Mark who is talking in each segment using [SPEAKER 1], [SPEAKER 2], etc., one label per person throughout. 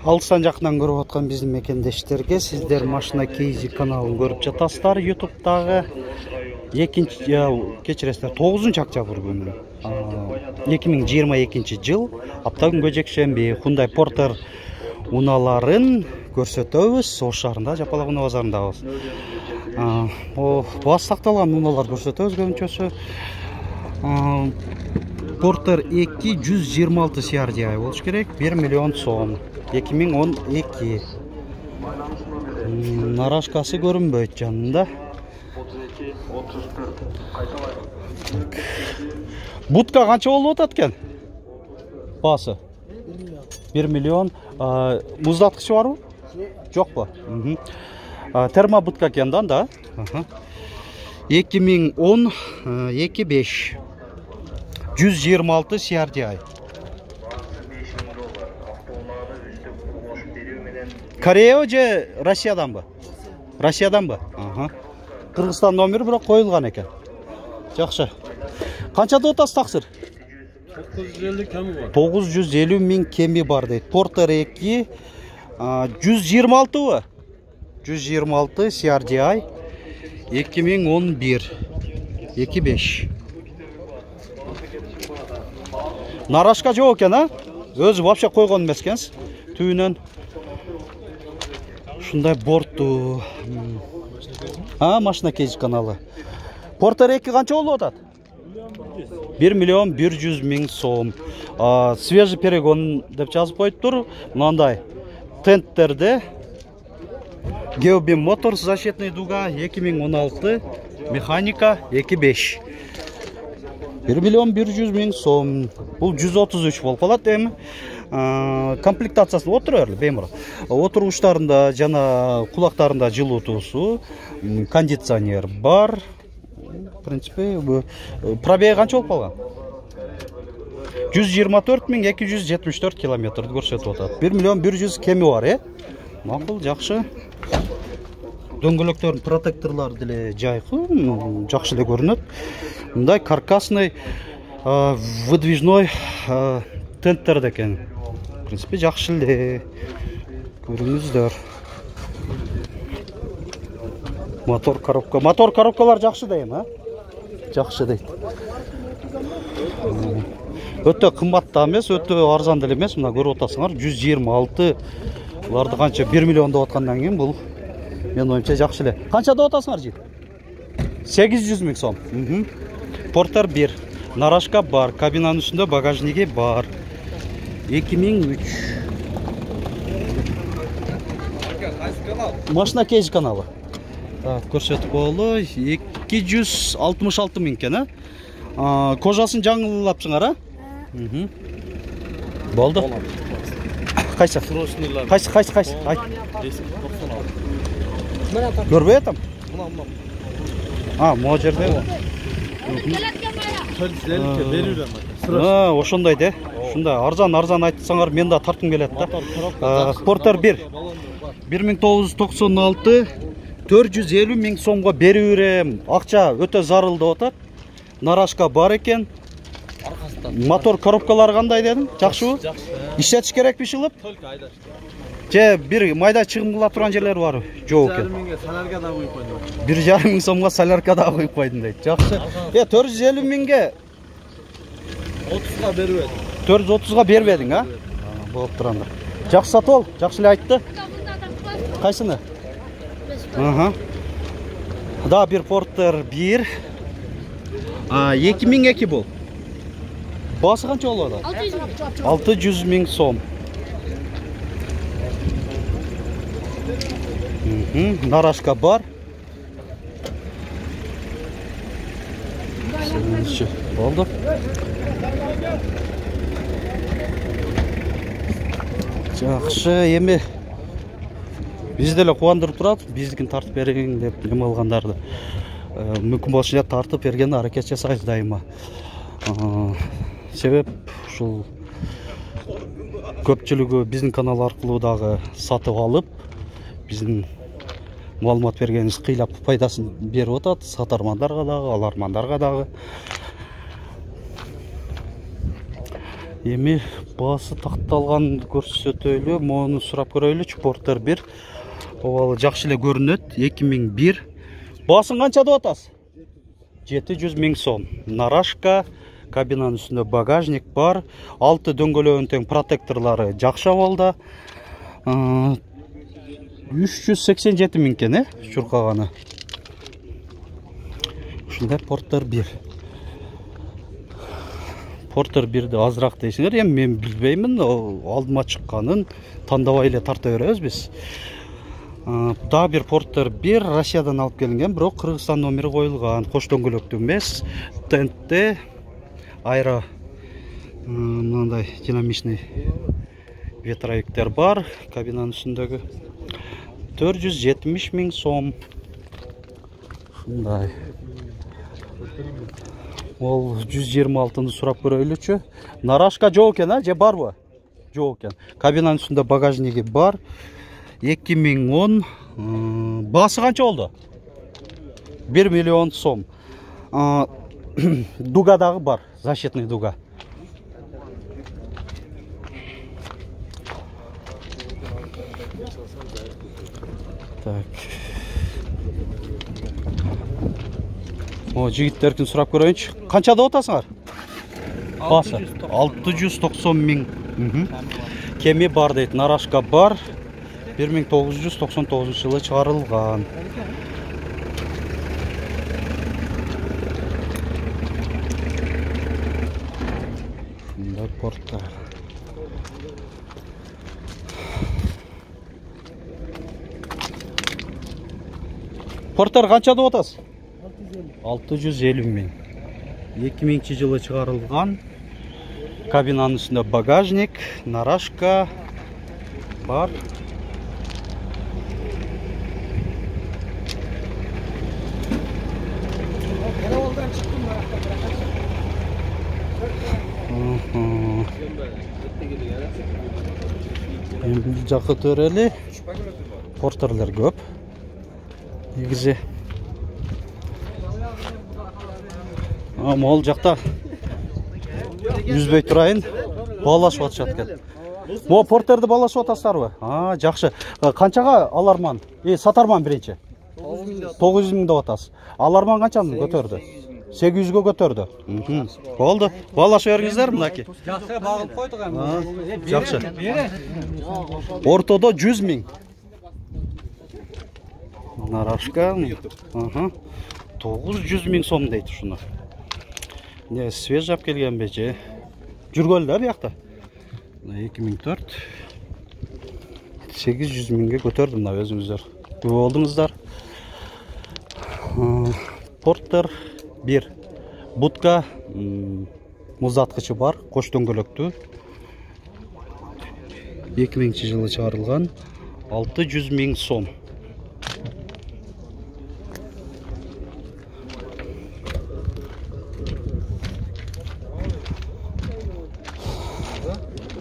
[SPEAKER 1] Алыстан жакынан көрүп аткан биздин мекендештерге сиздер машина кейзи каналын көрүп жатасыздар. YouTube'дагы кечиресиздер 9-октябрь күнү 2022 жыл апта күнгө жекшемби Hyundai Porter унааларын көрсөтөбүз. Ош шаарында Жапалак унаа базарындабыз. Баасы сакталган унаалар көрсөтөбүз көбүнчөсү. Porter 2 126 CRDI болуш керек, 1 миллион сом. 2012. Нарашкасы көрүнбөйт жанында. Будка канча болуп атат экен? Баасы 1 миллион. Муздаткычы барбы? Жокпу? Термобудка экен да. 2010 25 126 CRDI. Корея же Россияданбы? Россияданбы? Кыргызстан номери бирок коюлган экен. Жакшы. Канча деп атасыз таксыр?
[SPEAKER 2] 950 кеми бар.
[SPEAKER 1] 950 миң кеми бар дейт. Porter 2 126бы? 126 CRDI 2011 25. Нарашка жок экен, Өзү вообще койгон эмес экенсиз. Түйүнөн ушундай бортту. Машина кейз каналы. Porter 2 канча болуп атат? 1 миллион 100 миң сом. Свежий перегон деп жазып коюптур. Мындай тенттерде Geobim Motors защитный дуга 2016 механика 2.5. 1 миллион 100 миң сом. Бул 133 болуп калат эми. Комплектациясы отуруп бемур. Отургучтарында жана кулактарында жылуутуусу, кондиционер бар. В принципе, пробеги канча болуп калган? 124.274 километрди көрсөтүп атат. 1 миллион 100 кеми бар, Макул, жакшы. Дөңгөлөктөрдүн протекторлору деле жайкы, жакшы эле көрүнөт. Мындай каркасный выдвижной тенттер экен. В принципе, жакшы эле көрүңүздөр. Мотор коробкалар жакшы дейм, Жакшы дейт. Өтө кымбат да эмес, өтө арзан деле эмес. Мына көрүп атасыңар, 126. Буларды канча 1 миллион деп аткандан кийин бул мен оюмча жакшы эле. Канча деп атасыңар жит? 800 миң сом. Porter 1. Нарашка бар, кабинанын үстүндө багажниги бар. 2003. Машина кейз каналы. Көрсөтүп болду. 266 миң экен, Кожасын жаңылапсыңар, Болду. Кайсы? Кайсы? Айт. Көрбөй атам? Могу жерде. Ошондой де. Ушундай арзан айтсаңар мен да тартым келет да. Porter 1 1996 450 миң сомго берип берем. Акча өтө зарыл деп атат. Нарашка бар экен. Мотор коробкалары кандай дедим? Жакшыбы? Иштетиш керекпи шылып?
[SPEAKER 2] Только айдаш.
[SPEAKER 1] Же бир майда чыгым кыла турган жерлер бар. Жок экен.
[SPEAKER 2] 1,5 миңге солярка да коюп койдум.
[SPEAKER 1] 1,5 миң сомго солярка да коюп койдум дейт. Жакшы. 450 миңге
[SPEAKER 2] 30га бербедим.
[SPEAKER 1] 430га бербедиң, Болуп турганда. Жакшы сатып ал, жакшы эле айтты. Кайсыны? Да, бир Porter 1 2002 бул. Баасы канча болот? 600 миң сом. Нарашка бар. Болду. Жакшы, эми бизди деле кубандырып турат, биздикин тартып бериң деп эме алгандарды. Мүмкүн болсо тартып берген аракет жасайбыз дайыма. Себеп ушул көпчүлүгү биздин канал аркылуу дагы сатып алып, биздин маалымат бергенибиз кыйлап пайдасын берип атат сатармандарга дагы, алармандарга дагы. Эми баасы такталган көрсөтөлү, мону сурап көрөйлүчү. Портер 1. Обалы жакшы эле көрүнөт. 2001. Баасын канча деп атасыз? 700 000 сом. Нарашка, кабинанын үстүндө багажник бар. 6 дөңгөлөгүнүн тең протекторлору жакшы абалда. 387 000 экен, чуркаганы. Ушундай Портер 1. Портер 1'ди азыраак дейсиңер, эми мен билбеймин, алдыма чыкканын тандабай эле тарта беребиз биз. Дагы бир Портер 1 Россиядан алып келинген, бирок Кыргызстан номери коюлган. Кош дөңгөлөктүү эмес, тентте айра мындай динамичный ветровиктер бар. Кабинанын үстүндөгү 470 000 сом. Ушундай. Ол 126-ны сурап көрөйлүчү. Нарашка жок экен, же барбы? Жок экен. Кабинанын үстүндө багажниги бар. 2010. Баасы канча болду? 1 миллион сом. Дуга дагы бар, защитный дуга. Так. Жигиттердин сурап көрөйүнчү. Канча деп атасыңар? Баасы 690 000. Кеми бар дейт. Нарашка бар. 1999 жылы чыгарылган. Мындай Портер. Портер канча деп атасыз? 650 000. 2000 жылы чыгарылган. Кабинанын үстүндө багажник, нарашка бар. Бул жакка төрөлү. Портерлер көп. Негизи мол жакта үзбөй турайын, баалашып атышат экен. Могу Портерди баалашып атасыздарбы? Жакшы. Канчага аларман? Сатарман биринчи. 900 000 деп атасыз. Аларман канчаны көтөрдү? 800-гө көтөрдү. Болду. Баалашып бериңиздер мынакей.
[SPEAKER 2] Жакшы багылып койдук эми.
[SPEAKER 1] Жакшы. Ортодо 100 000. Нарашка. 900 000 сом дейт ушуну. Не свежий алып келгенби же? Жүргөлү да биякта. 2004. 800 000ге көтөрдүм да өзүңүздөр. Күбө болдуңуздар. Портер 1. Будка муздаткычы бар, кош дөңгөлөктүү. 2000 жылы чыгарылган. 600 000 сом.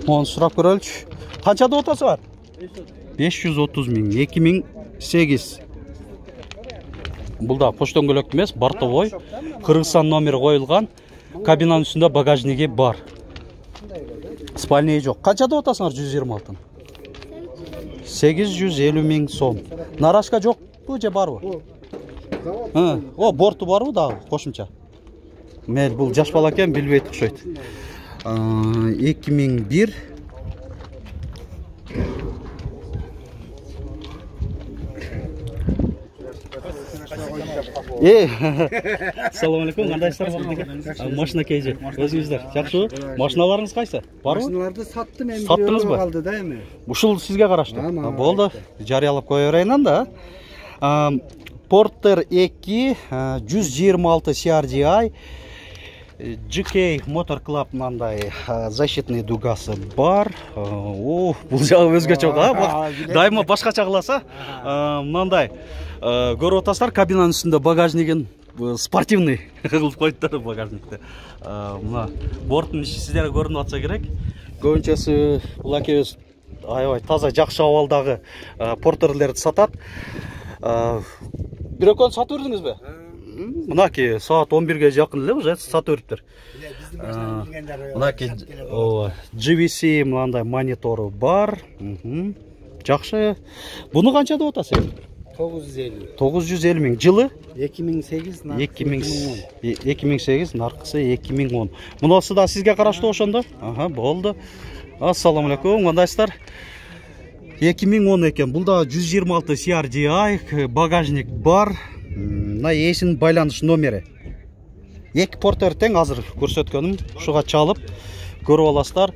[SPEAKER 1] Onu сурап көрөлчү. Канча деп атасыңар? 530 000. 2008. Бул да кош дөңгөлөктүү эмес, бортовой. Кыргызстан номери коюлган. Кабинанын үстүндө багажниги бар. Спальный жок. Канча деп атасыңар 126-ны? 850 000 сом. Нарашка жокпу же барбы? Борту барбы дагы кошумча? Мен бул жаш бала экен, билбейт окшойт. 2001. Assalamu alaikum, кандайсыздар болду? Машина кейже. Өзүңүздөр жакшыбы? Машиналарыңыз кайсы? Барбы?
[SPEAKER 3] Машиналарды саттым, эми
[SPEAKER 1] Саттыңызбы?
[SPEAKER 3] калды да эми.
[SPEAKER 1] Ушул сизге караштуу. Болду. Жарыялап кое берейин анда. Портер 2 126 CRDI GK Motor Club мындай защитный дугасы бар. Бул жагы өзгөчө го. Дайыма башкача кыласа. Мындай көрүп атасыздар, кабинанын үстүндө багажнигин спортивный кылып койдуптар багажникти. Мына борттун иши сиздерге көрүнүп атса керек. Көбүнчөсү бул акебиз аябай таза жакшы абалдагы портерлерди сатат. Бир экөөнү сатып бердиңизби? Мынакей саат 11-ге жакын эле уже сатып бериптир. мынакей GVC мындай монитору бар. Жакшы. Буну канча деп атасыз?
[SPEAKER 2] 950.
[SPEAKER 1] 950 миң. Жылы
[SPEAKER 2] 2008
[SPEAKER 1] 2008, наркысы 2010. Мунасы да сизге караштуу ошондо? Ага, болду. Ассаламу алейкум, кандайсыздар? 2010 экен. Бул да 126 CRDI, багажник бар. Мына эсин байланыш номери. Эки портер тең азыр көрсөткөнүм. Ушуга чалып көрүп аласыздар.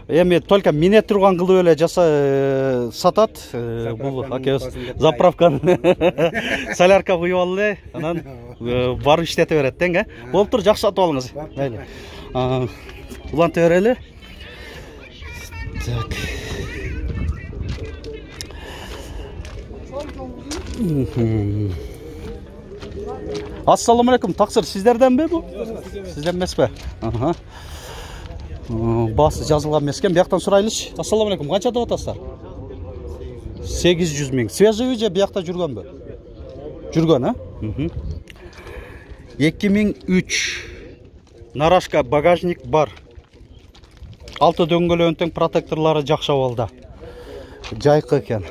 [SPEAKER 1] Эми только мине турган кылып эле жаса сатат. Бул заправканы солярка куюп алып эле, анан барып иштете берет тең, Болуптур, жакшы сатып алыңыз. Мейли. Уланта берели. Так. Ассаламу алейкум, таксир сиздерденби бу? Сизден эмеспи? Басы жазылган эмес экен. Бияктан сурайлычы. Ассаламу алейкум, канча деп атасыздар? 800 миң. Свежий же биякта жүргөнбү? Жүргөн, 2003. Нарашка багажник бар. Алты дөңгөлөөнүн тең протекторлору жакшы абалда. Жайкы экен.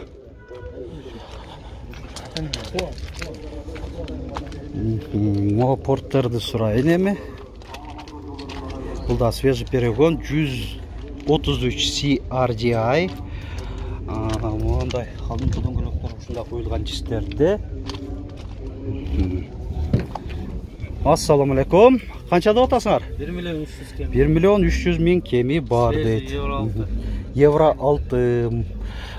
[SPEAKER 1] Мо порттерди сурайын эми. Бул да свежий перегон 133 CRDI. Мондай калдын дөңгөлөктөр ушунда коюлган чистерде. Ассаламу алейкум. Канча деп атасыңар? 1 миллион 300 миң кеми бар дейт. Евро 6.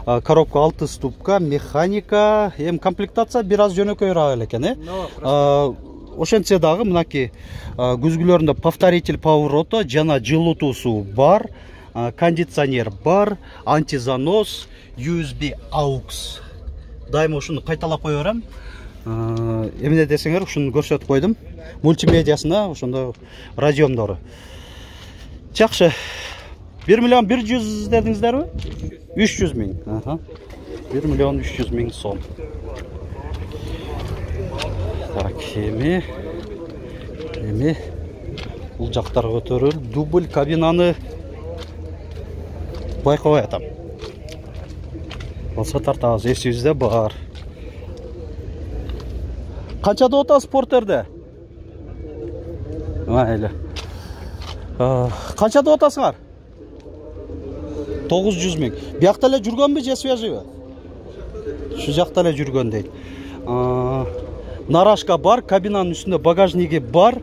[SPEAKER 1] Коробка 6 ступка, механика, комплектация бир аз жөнөкөйрөөк экен, Ошентсе дагы мынакей күзгүлөрүндө повторитель повороту жана жылытуусу бар, кондиционер бар, антизанос, USB AUX. Дайыма ушуну кайталап кое берем. Эмне десеңер, ушуну көрсөтүп койдум. Мультимедиасына ошондо радиомдору. Жакшы. 1 миллион 100 дедиңиздерби? 300 миң. 1 миллион 300 миң сом. Так, эми бул жактарга көтөрүл. Дубль кабинаны байкабай атам. Болсо тартабыз, эсибизде бар. Канча деп атасыз портерде? Майлы. Канча деп атасыңар? 900 миң. Биякта эле жүргөнбү же свежийби? Шу жакта эле жүргөн дейт. Нарашка бар, кабинанын үстүндө багажниги бар.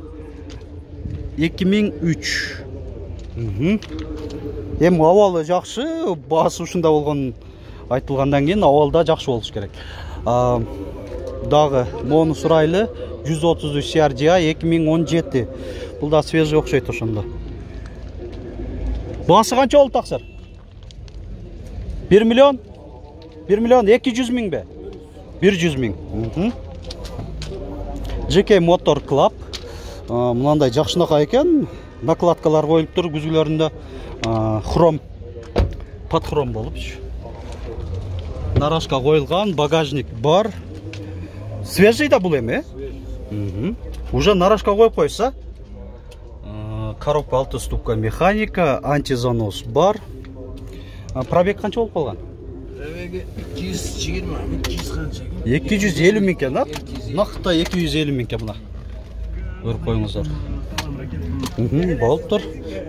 [SPEAKER 1] 2003. Эми абалы жакшы, баасы ушунда болгон айтылгандан кийин абалда жакшы болуш керек. Дагы мону сурайлы 133 CRDI 2017. Бул да свежий окшойт ошондо. Баасы канча болду таксыр? 1 миллион 200 миңби? 100 миң. JK Motor Club. Мынандай жакшынака экен. Накладкалар коюлуп тур, күзгүлөрүндө хром, под хром болупчу. Нарашка коюлган, багажник бар. Свежий да бул эми, Уже нарашка коюп койса. Коробка 6 ступка механика, антизанос бар. Пробег канча болуп калган?
[SPEAKER 2] Пробеги 220, 200 канча?
[SPEAKER 1] 250 миң экен, Накта 250 миң экен мына. Көрүп коюңуздар. Болуптур.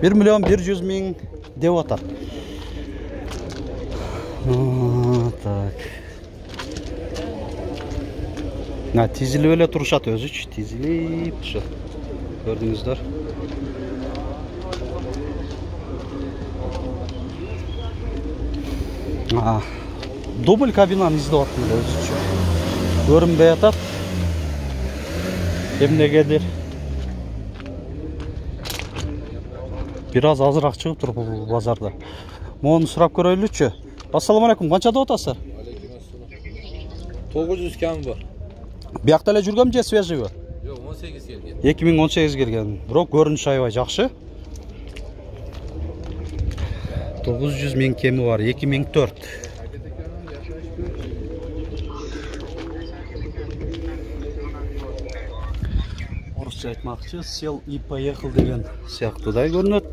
[SPEAKER 1] 1 миллион 100 миң деп атат. Так. Тизилип эле турушат өзүчү, тизилип турушу. Көрдүңүздөр. Дубль кабинаны издеп аттым эле өзүчү. Көрүнбөй атат. Эмнегедир бир аз азыраак чыгыптыр бул базарда. Мону сурап көрөйлүчү. Ассаламу алейкум, канча деп атасыздар?
[SPEAKER 2] 900 кам бар.
[SPEAKER 1] Биякта эле жүргөнбү же свежийби?
[SPEAKER 2] Жок, 18 келген.
[SPEAKER 1] 2018 келген. Бирок көрүнүшү аябай жакшы. 900 миң кеми бар, 2004. Кыргызча айтмакчы, сел и поехал деген сыяктуудай көрүнөт.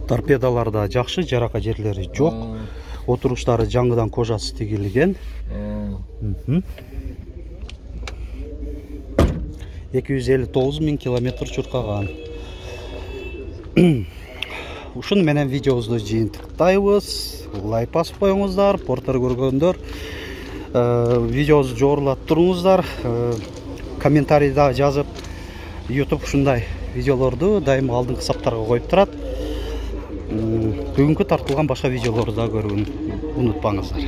[SPEAKER 1] Торпедаларда жакшы, жарака жерлери жок. Отуруштары жаңыдан кожасы тигилген. 259 000 километр чуркаган. Ушуну менен видеобузду жыйынтыктайбыз. Лайк басып коюңуздар, Портер көргөндөр видеобузду жогорулатып туруңуздар. Комментарийда жазып, YouTube ушундай видеолорду дайым алдыңкы саптарга коюп турат. Бүгүнкү тартылган башка видеолорду да көрүүнү унутпаңыздар.